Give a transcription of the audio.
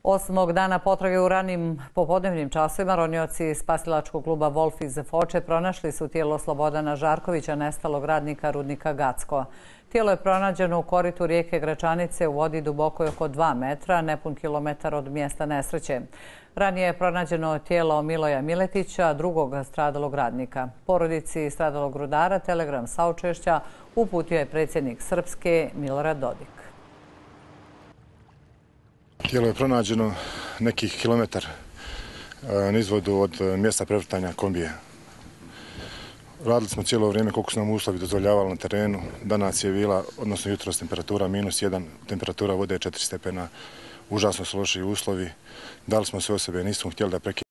Osmog dana potrage u ranim popodnevnim časovima ronioci spasilačkog kluba Wolf iz Foče pronašli su tijelo Slobodana Žarkovića, nestalog radnika rudnika Gacko. Tijelo je pronađeno u koritu rijeke Gračanice u vodi dubokoj oko 2 metra, nepun kilometar od mjesta nesreće. Ranije je pronađeno tijelo Miloja Miletića, drugog stradalog radnika. Porodici stradalog rudara telegram saučešća uputio je predsjednik Srpske Milorad Dodik. Tijelo je pronađeno nekih kilometar nizvodu od mjesta prevrtanja kombije. Radili smo cijelo vrijeme koliko su nam uslovi dozvoljavali na terenu. Danas je bila, odnosno jutros, temperatura -1, temperatura vode je 4 stepena. Užasno su loši uslovi. Dali smo sve o sebe, nismo htjeli da prekinemo.